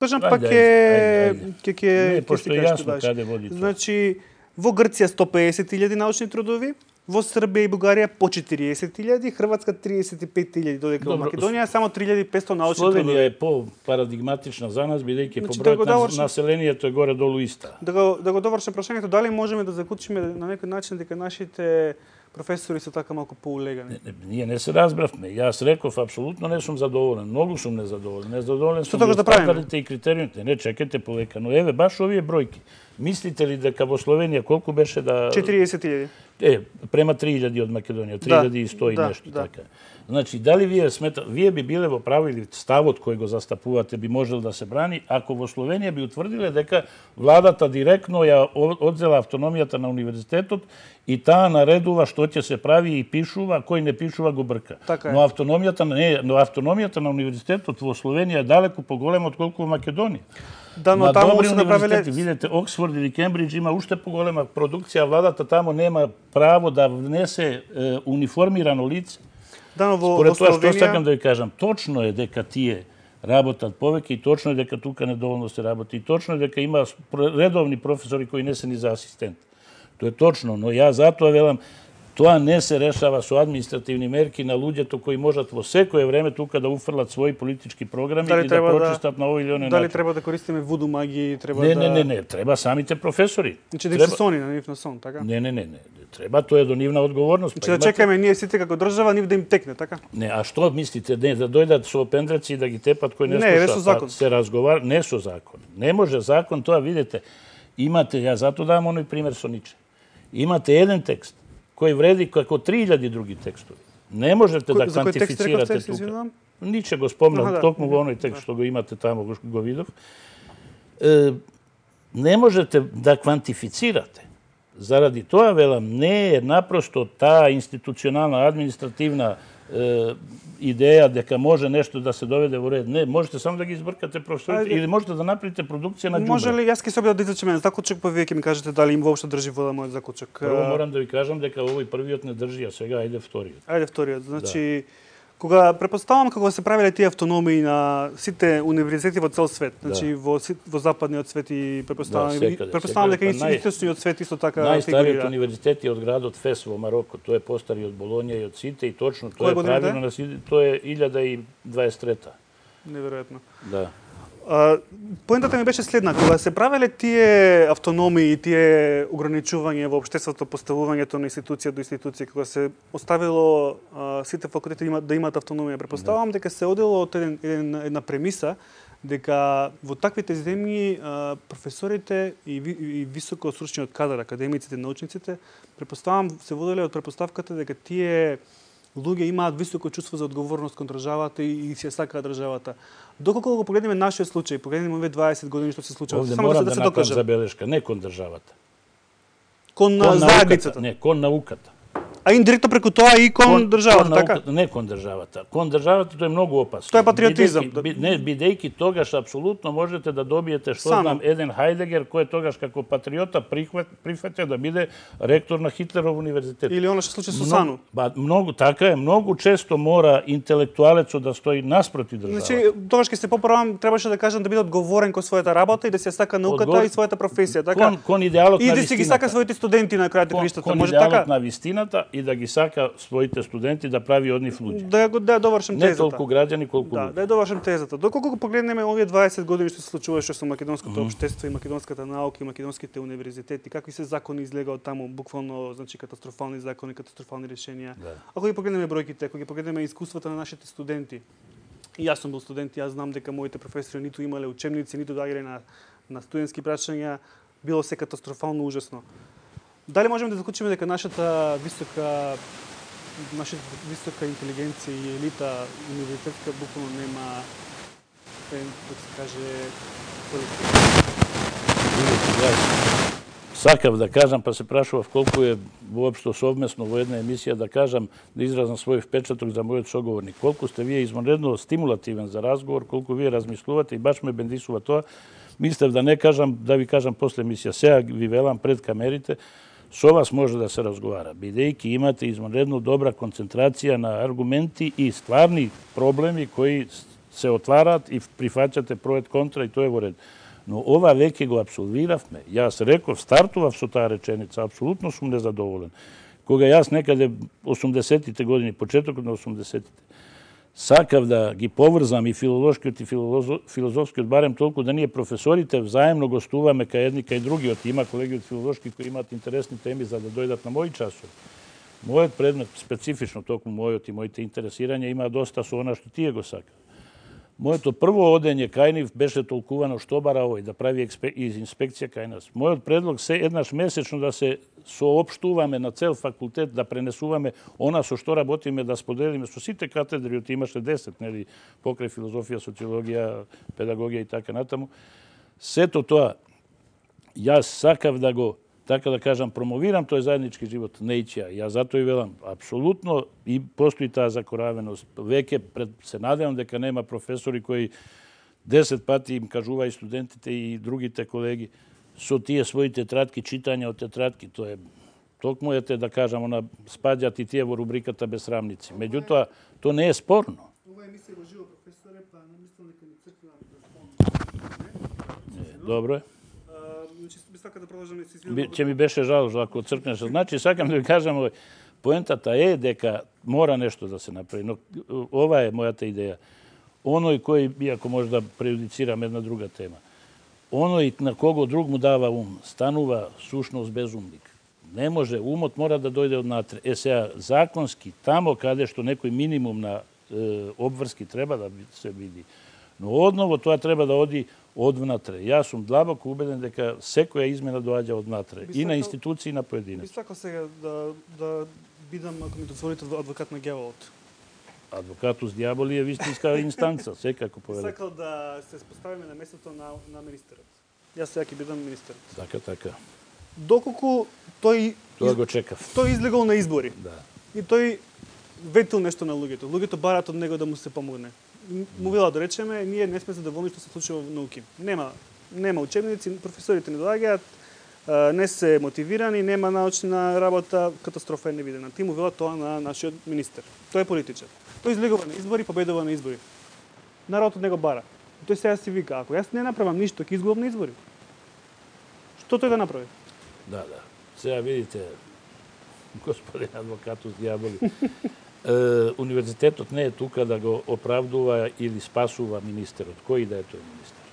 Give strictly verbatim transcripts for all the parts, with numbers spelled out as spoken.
кажам, па ќе ќе ќе пошто е јасно каде води тоа. Значи, во Грција сто пеесет илјади научни трудови, во Србија и Бугарија по четириесет илјади, Хрватска триесет и пет илјади, додека во Македонија само три илјади и петстотини научни трудови. Словенија е по-парадигматична за нас, бидејќи по бројот на населението е горе-долу иста. Да го да го довршам прашањето, дали можеме да заклучиме на некој начин дека нашите професори се така малку поулегани? Не, не, ние не се разбравме. Јас реков, апсолутно не сум задоволен. Многу сум незадоволен. Незадоволен сум од стандардите и критериумите. Не, чекайте полека. Но еве, баш овие бројки. Мислите ли дека во Словенија колку беше да... четириесет илјади. Е, према три илјади од Македонија, три илјади и сто и да, нешто да. така. Значи, дали вие смета, вие би биле во право или ставот кој го застапувате би можел да се брани, ако во Словенија би утврдиле дека владата директно ја одзела автономијата на универзитетот и таа наредува што ќе се прави и пишува, кој не пишува го брка. Така но автономијата не, но автономијата на универзитетот во Словенија е далеку поголема отколку во Македонија. Да, но на таму добри се направиле, видите, Оксфорд или Кембридж има уште поголема продукција, владата таму нема право да внесе е, униформирано лице. Да, но во, Според во тоа Словенија... што сакам да ви кажам, точно е дека тие работат повеќе и точно е дека тука недоволно се работи и точно е дека има редовни професори кои не се ни за асистент. Тоа е точно, но ја затоа велам, тоа не се решава со административни мерки на луѓето кои можат во секое време тука да уфрлат своји политички програми дали и да прочистат да, на овој или оној начин. Дали треба да користиме вуду магија, треба не, да... Не, не, не, треба самите професори. Значи да треба... се сони на нив на сон, така? Не, не, не, не. Треба, тоа е до нивна одговорност. Значи па да чекаме ние сите како држава, нив да им текне, така? Не, а што мислите, не, да дојдат со пендреци и да ги тепат кој не, не слуша? Не, со закон. Па, се разговар, не со закон. Не може закон, тоа видите. Имате, ја затоа давам оној пример со Ниче. Имате еден текст кој вреди како три илјади други текстови. Не можете Ко, да квантифицирате тука. Ниче го спомнам, ага, да. Токму во оној текст што го имате таму, го, го видов. Е, не можете да квантифицирате. Заради тоа, велам, не е напросто таа институционална, административна е, идеја дека може нешто да се доведе во ред. Не, можете само да ги избркате професорите или можете да направите продукција на џубре. Може ли, јас ќе се обидам да изречеме заклучок, па вие ќе ми кажете дали им воопшто држи вода мојот заклучок. Прво морам да ви кажам дека овој првиот не држи, а сега ајде вториот. Ајде вториот. Значи, да. Кога препоставам кога се правеле тие автономии на сите универзитети во цел свет, значи да. во во западниот свет и препоставам да, секаде, препоставам дека и источниот свет исто така најстариот универзитет е од градот Фес во Мароко, тој е постари од Болонја и од сите и точно тоа е правилно на сите, тоа е илјада и дваесет и трета. Неверојатно. Да. А, поентата ми беше следна, кога се правеле тие автономии и тие ограничувања во општеството, поставувањето на институција до институција, кога се оставило а, сите факултети има, да имаат автономија, претпоставувам дека се одело од еден, еден, една премиса дека во таквите земји а, професорите и, и високо стручниот кадар, академиците, научниците, претпоставувам се воделе од претпоставката дека тие луѓе имаат високо чувство за одговорност кон државата и, и се сакаат државата. Доколку го погледнеме нашиот случај, погледнеме овие дваесет години што се случува, овде само морам да, да, да се направам докаже. Забелешка, не кон државата. Кон, кон заедницата. Не, кон науката. А индиректно преку тоа и кон, кон државата, кон така? Науката, не кон државата. Кон државата тоа е многу опасно. Тоа е патриотизам. Бидејќи, не, бидејќи тогаш апсолутно можете да добиете што Само. знам еден Хајдегер кој тогаш како патриота прихват прифатја да биде ректор на Хитлеров универзитет. Или она што случи со Много- Сану. Ба, многу така е, многу често мора интелектуалецот да стои наспроти државата. Значи, тогаш ќе се поправам, требаше да кажам да биде одговорен кон својата работа и да се сака науката Одгор- и својата професија, така? Кон, кон идеалот И на да си ги вистината. сака своите студенти на крајот на Кон, краиштата, кон може идеалот така? на вистината и да ги сака своите студенти да прави од нив луѓе. Да ја го да ја довршам Не тезата. толку граѓани колку Да, луѓе. да ја довршам тезата. Доколку го погледнеме овие дваесет години што се случуваше со македонското Мгм. општество и македонската наука и македонските универзитети, какви се закони излега од таму, буквално, значи катастрофални закони, катастрофални решенија. Да. Ако ги погледнеме бројките, ако ги погледнеме искуствата на нашите студенти, и јас сум бил студент, јас знам дека моите професори ниту имале учебници, ниту доаѓале на на студентски прашања, било се катастрофално ужасно. Дали можеме да заклучиме дека нашата висока нашата висока интелигенција и елита универзитетска буквално нема е, да се каже колектив? Видите, јас сакав да кажам, па се прашував колку е воопшто совмесно во една емисија да кажам, да изразам свој впечаток за мојот соговорник. Колку сте вие извонредно стимулативен за разговор, колку вие размислувате и баш ме бендисува тоа. Мислев да не кажам, да ви кажам после емисија. Сега ви велам пред камерите, со вас може да се разговара, бидејќи имате извонредно добра концентрација на аргументи и стварни проблеми кои се отвараат и прифаќате проект контра и тоа е во ред. Но ова веќе го апсолвиравме. Јас реков, стартував со таа реченица, апсолутно сум незадоволен. Кога јас некаде осумдесетите години, почетокот на осумдесетите, сакав да ги поврзам и филолошкиот и филозофскиот, барем толку да ние професорите взаемно гостуваме кај едни кај другиот. Има колеги од филолошки кои имаат интересни теми за да дојдат на мои часови. Мојот предмет, специфично токму мојот и моите интересирања, има доста со она што тие го сакат. Моето прво одење кај нив беше толкувано што бара овој да прави инспекција кај нас. Мојот предлог се еднаш месечно да се соопштуваме на цел факултет, да пренесуваме она со што работиме, да споделиме со сите катедри, имаше десет, нели, покрај филозофија, социологија, педагогија и така натаму. Сето тоа, јас сакав да го, така да кажам, промовирам тој заеднички живот, наture. Ја затоа и велам, апсолутно и постои таа закоравеност. Веќе пред, се надевам дека нема професори кои десет пати им кажува и студентите и другите колеги со тие своји тетрадки, читање од тетрадки. Тоа е токму ете да кажам, она спаѓаат и тие во рубриката безсрамници. Меѓутоа, тоа не е спорно. Ова емисија го живо, професоре, па не мислам дека ни црква да спомнам. Добро е. Сака да продолжам и се извинувам. Ќе ми беше жал ако цркнеш. Значи, сакам да ви кажам, поентата е дека мора нешто да се направи, но ова е мојата идеја. Оној кој, иако може да преюдицирам една друга тема, оној на кого друг му дава ум, станува сушност безумник. Не може, умот мора да дојде однатре. Е сега, законски, тамо каде што некој минимум на е, обврски треба да се види. Но одново тоа треба да оди одвнатре. Јас сум длабоко убеден дека секоја измена доаѓа однатре. И на институции, и на поединец. Би сакал сега да, да бидам, ако ми дозволите, адвокат на ѓаволот. Адвокатус дјаволи е вистинска инстанца, секако повеле. Би сакал да се поставиме на местото на, на министерот. Јас сега ќе бидам министерот. Така, така. Доколку тој... Тоа го чекав. Тој излегол на избори. Да. И тој ветил нешто на луѓето. Луѓето бараат од него да му се помогне. Му вела да речеме, ние не сме задоволни што се случува во науки. Нема, нема учебници, професорите не доаѓаат, не се мотивирани, нема научна работа, катастрофа е невидена. Ти му вела тоа на нашиот министер. Тој е политичар. Тој излегува на избори, победува на избори. Народот од него бара. Тој сега си вика, ако јас не направам ништо, ќе изгубам на избори. Што тој да направи? Да, да. Сега видите, господин адвокатус дјаволи, универзитетот не е тука да го оправдува или спасува министерот. Кој да е тој министер?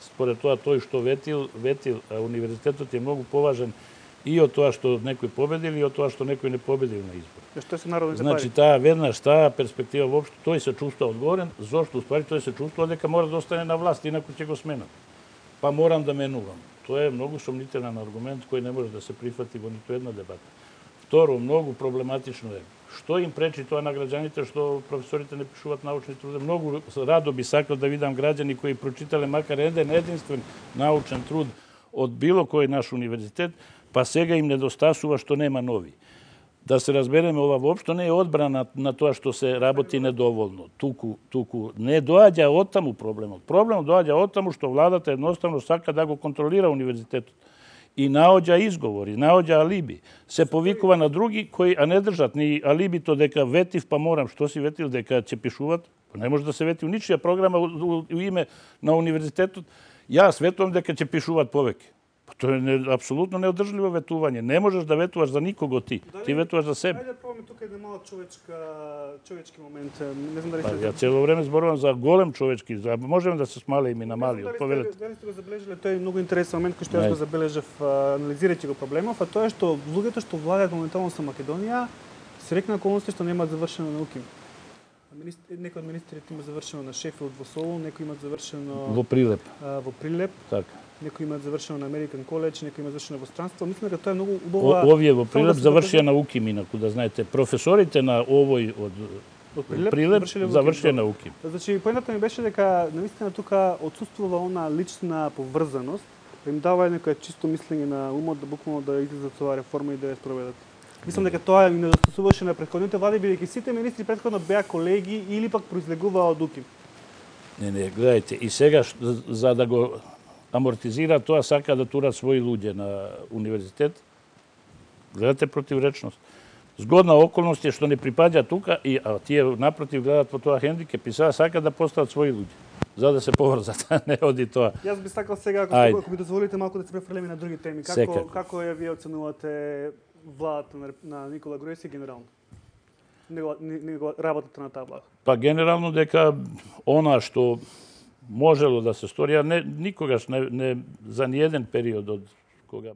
Според тоа, тој што ветил, ветил, а универзитетот е многу поважен и од тоа што некој победил и од тоа што некој не победил на избор. Што се народните Значи, пари? таа веднаш, таа перспектива воопшто, тој се чувствува одговорен, зошто уствари тој се чувствува дека мора да остане на власт, инаку ќе го сменат. Па морам да менувам. Тоа е многу сомнителен аргумент кој не може да се прифати во ниту една дебата. Второ, многу проблематично е. Што им пречи тоа на граѓаните што професорите не пишуваат научни труд? Многу радо би сакал да видам граѓани кои прочитале макар еден единствен научен труд од било кој наш универзитет, па сега им недостасува што нема нови. Да се разбереме, ова воопшто не е одбрана на тоа што се работи недоволно. Туку, туку не доаѓа оттаму проблемот. Проблемот доаѓа оттаму што владата едноставно сака да го контролира универзитетот. И наоѓа изговори, наоѓа алиби. Се повикува на други кои а не држат ни алибито дека ветив па морам. Што си ветил дека ќе пишуват? Не може да се вети у ничија програма у име на универзитетот. Јас ветувам дека ќе пишуваат повеќе. Тоа е не, апсолутно неодржливо ветување. Не можеш да ветуваш за никого ти. Дали, ти ветуваш за себе. Ајде да пробаме тука еден малку човечка, човечки момент. Не знам дали па, сте... Ја цело време зборувам за голем човечки. За можеме да се смале и на мали. Повелете. Дали сте го забележале, тој е многу интересен момент кој што јас го забележав анализирајќи го проблемов, а тоа е што луѓето што владеат моментално со Македонија се рекна околности што немаат завршено науки. Некои од министрите има завршено на Шефилд во Солун, некои имаат завршено во Прилеп. А, во Прилеп. Така. Некои имаат завршено на Американ коледж, некои имаат завршено во странство. Мислам дека тоа е многу убава. Овие во Прилеп да завршија науки минаку, да знаете. Професорите на овој од од Прилеп, Прилеп завршија науки. Значи поентата ми беше дека навистина тука отсуствува она лична поврзаност, да им дава некоја чисто мислење на умот да буквално да излезат со оваа реформа и да ја спроведат. Мислам дека тоа им недостасуваше на претходните влади, бидејќи сите министри претходно беа колеги или пак произлегуваа од УКИМ. Не, не, гледајте, и сега за да го амортизира тоа сака да тура своји луѓе на универзитет. Гледате противречност. Згодна околност е што не припаѓа тука, и, а тие напротив гледат во тоа хендикеп и сега сакаат да постават своји луѓе, за да се поврзат, не оди тоа. Јас би сакал сега, ако, ако ми дозволите малку да се префрлиме на други теми. Како, Секако. како ја вие оценувате владата на, на Никола Груевски генерално? Него, него работата на таа влада? Па генерално дека она што можело да се стори, а не, никогаш не, не за ниеден период од кога